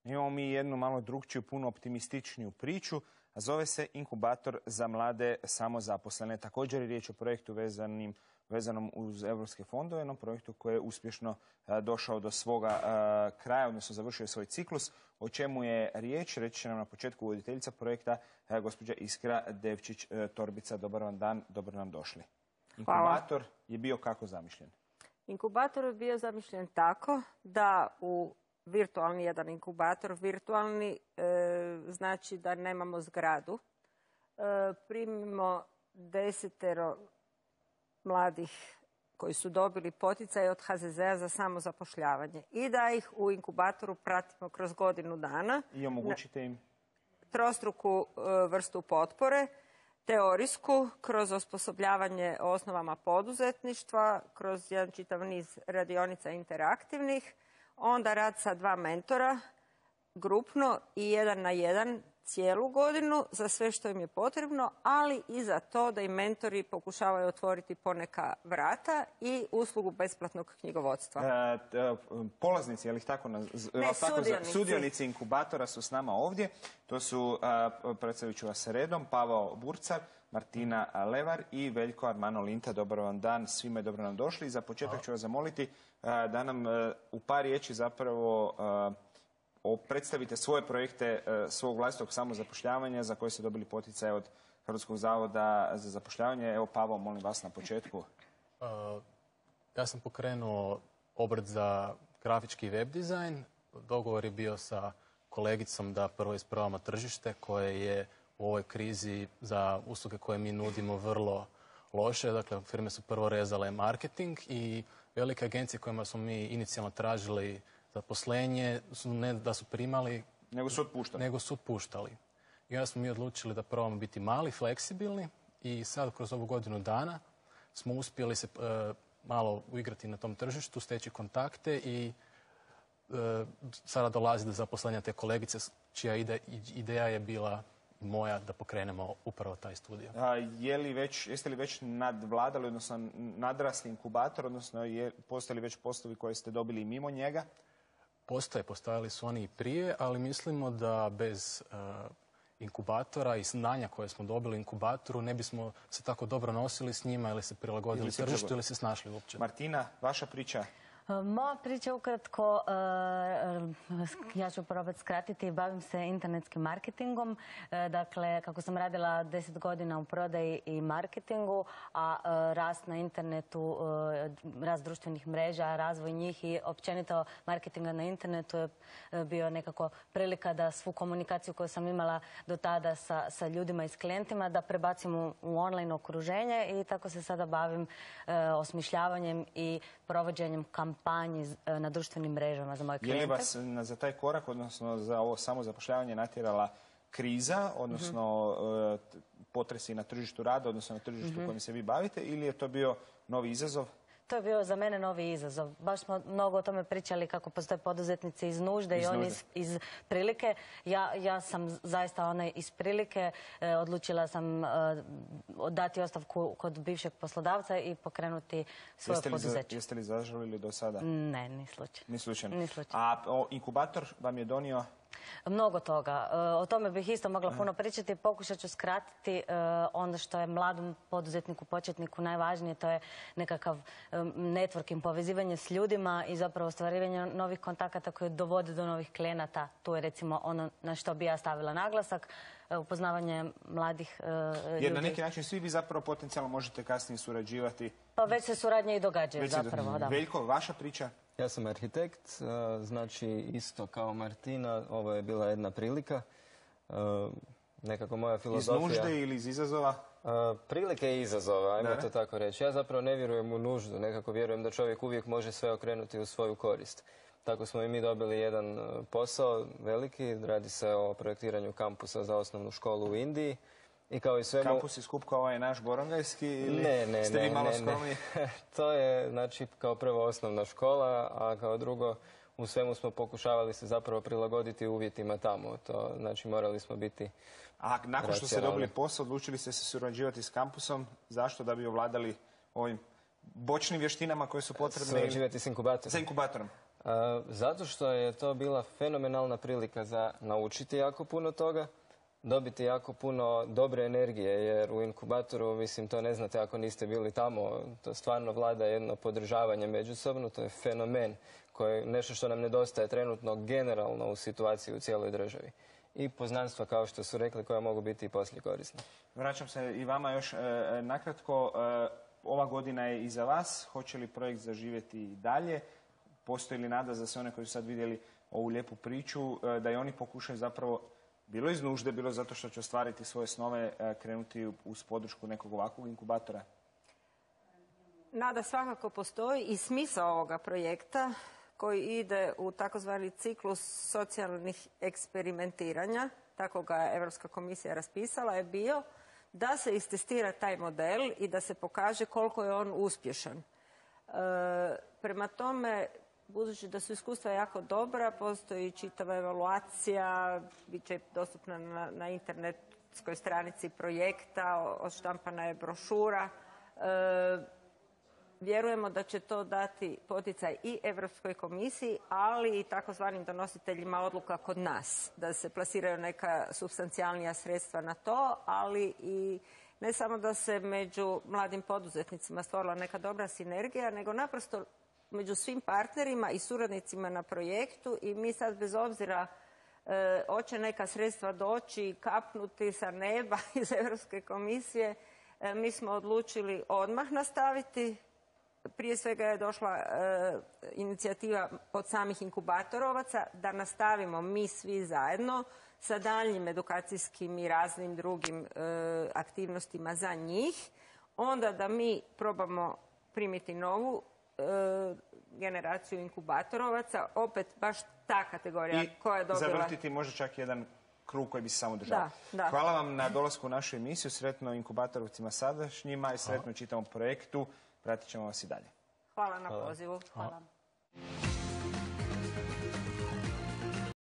Imamo mi jednu malo drugčiju, puno optimističniju priču, a zove se Inkubator za mlade samozaposlene. Također je riječ o projektu vezanom uz europske fondove, jednom projektu koji je uspješno došao do svoga kraja, odnosno završio svoj ciklus. O čemu je riječ, reći će nam na početku voditeljica projekta, gospođa Iskra Devčić-Torbica. Dobar vam dan, dobro nam došli. Inkubator je bio kako zamišljen? Inkubator je bio zamišljen tako da u virtualni jedan inkubator, virtualni znači da nemamo zgradu, primimo 10 mladih koji su dobili poticaj od HZZ-a za samozapošljavanje i da ih u inkubatoru pratimo kroz godinu dana. I omogućite im? Trostruku vrstu potpore, teorijsku, kroz osposobljavanje o osnovama poduzetništva, kroz jedan čitav niz radionica interaktivnih, onda rad sa 2 mentora, grupno i 1 na 1 cijelu godinu za sve što im je potrebno, ali i za to da im mentori pokušavaju otvoriti poneka vrata i uslugu besplatnog knjigovodstva. Polaznici, je li tako? Sudionici inkubatora su s nama ovdje. To su, predstavit ću vas redom, Pavao Burcar, Martina Levar i Veljko Armano Linta. Dobar vam dan, svima je dobro nam došli. Za početak ću vas zamoliti da nam u par riječi zapravo predstavite svoje projekte svog vlastitog samozapošljavanja za koje ste dobili poticaj od Hrvatskog zavoda za zapošljavanje. Evo, Pavao, molim vas na početku. Ja sam pokrenuo obrt za grafički web dizajn. Dogovor je bio sa kolegicom da prvo ispravamo tržište koje je u ovoj krizi za usluge koje mi nudimo vrlo loše. Dakle, firme su prvo rezale marketing i velike agencije kojima smo mi inicijalno tražili zaposlenje, ne da su primali, nego su otpuštali. I onda smo mi odlučili da probamo biti mali, fleksibilni i sad kroz ovu godinu dana smo uspjeli se malo uigrati na tom tržištu, steći kontakte i sada dolazi do zaposlenja te kolegice čija ideja je bila moja da pokrenemo upravo taj studio. Jeste li već nadvladali, odnosno nadrasli inkubator, odnosno postoje li već poslovi koje ste dobili i mimo njega? Postojali su oni i prije, ali mislimo da bez inkubatora i znanja koje smo dobili u inkubatoru ne bismo se tako dobro nosili s njima ili se prilagodili tržištu ili se snašli uopće. Martina, vaša priča? Moja priča ukratko, ja ću probati skratiti, bavim se internetskim marketingom. Dakle, kako sam radila 10 godina u prodaji i marketingu, a rast na internetu, rast društvenih mreža, razvoj njih i općenito marketinga na internetu je bio nekako prilika da svu komunikaciju koju sam imala do tada sa ljudima i s klijentima da prebacim u online okruženje i tako se sada bavim osmišljavanjem i provođenjem kampanji na društvenim mrežama za moje klijente. Je li vas za taj korak, odnosno za ovo samozapošljavanje natjerala kriza, odnosno potresi na tržištu rada, odnosno na tržištu kojim se vi bavite, ili je to bio novi izazov? To je bio za mene novi izazov. Baš smo mnogo o tome pričali kako postoje poduzetnici iz nužde i oni iz prilike. Ja sam zaista ona iz prilike. Odlučila sam dati ostavku kod bivšeg poslodavca i pokrenuti svoje poduzeće. Jeste li zažalili do sada? Ne, ni slučajno. Ni slučajno. A inkubator vam je donio? Mnogo toga. O tome bih isto mogla puno pričati. Pokušat ću skratiti ono što je mladom poduzetniku, početniku najvažnije. To je nekakav networking, povezivanje s ljudima i zapravo ostvarivanje novih kontakata koje dovode do novih klijenata. Tu je recimo ono na što bi ja stavila naglasak. Upoznavanje mladih ljudi. Jer na neki način svi vi zapravo potencijalno možete kasnije surađivati. Pa već se suradnje i događaju zapravo. Veljko, vaša priča? Ja sam arhitekt, znači isto kao Martina, ovo je bila jedna prilika. Nekako moja filozofija... Iz nužde ili iz izazova? Prilike i izazova, ajmo to tako reći. Ja zapravo ne vjerujem u nuždu, nekako vjerujem da čovjek uvijek može sve okrenuti u svoju korist. Tako smo i mi dobili jedan posao veliki, radi se o projektiranju kampusa za osnovnu školu u Indiji. I kao i svemu... Kampus i skup kao ovaj naš Borongajski ili ste vi malo skromni? To je, znači, kao prvo osnovna škola, a kao drugo u svemu smo pokušavali se zapravo prilagoditi uvjetima tamo. To, znači, morali smo biti... A nakon što ste dobili posao, odlučili ste se surađivati s kampusom. Zašto? Da bi ovladali ovim bočnim vještinama koje su potrebne? Surađivati s inkubatorom. Sa inkubatorom. Zato što je to bila fenomenalna prilika za naučiti jako puno toga, dobiti jako puno dobre energije, jer u inkubatoru, mislim, to ne znate ako niste bili tamo, to stvarno vlada jedno podržavanje međusobno, to je fenomen, nešto što nam nedostaje trenutno generalno u situaciji u cijeloj državi. I poznanstva, kao što su rekli, koja mogu biti i poslije korisna. Vraćam se i vama još nakratko. Ova godina je iza vas. Hoće li projekt zaživjeti i dalje? Postoji li nada za sve one koji su sad vidjeli ovu lijepu priču, da i oni pokušaju zapravo, bilo iz nužde, bilo zato što će ostvariti svoje snove, krenuti uz podršku nekog ovakvog inkubatora? Nada svakako postoji i smisao ovoga projekta koji ide u takozvani ciklus socijalnih eksperimentiranja, tako ga je Europska komisija raspisala, je bio da se istestira taj model i da se pokaže koliko je on uspješan. Prema tome, budući da su iskustva jako dobra, postoji čitava evaluacija, bit će dostupna na internetskoj stranici projekta, odštampana je brošura. Vjerujemo da će to dati poticaj i Europskoj komisiji, ali i takozvanim donositeljima odluka kod nas, da se plasiraju neka supstancijalnija sredstva na to, ali i ne samo da se među mladim poduzetnicima stvorila neka dobra sinergija, nego naprosto među svim partnerima i suradnicima na projektu i mi sad bez obzira hoće neka sredstva doći, kapnuti sa neba iz Europske komisije, mi smo odlučili odmah nastaviti. Prije svega je došla inicijativa od samih inkubatorovaca da nastavimo mi svi zajedno sa daljnjim edukacijskim i raznim drugim aktivnostima za njih. Onda da mi probamo primiti novu generaciju inkubatorovaca, opet baš ta kategorija koja je dobila... I zavrtiti možda čak jedan krug koji bi se samo držao. Da. Hvala vam na dolasku u našu emisiju, sretno inkubatorovcima sadašnjima i sretno čitavom projektu. Pratit ćemo vas i dalje. Hvala na pozivu. Hvala.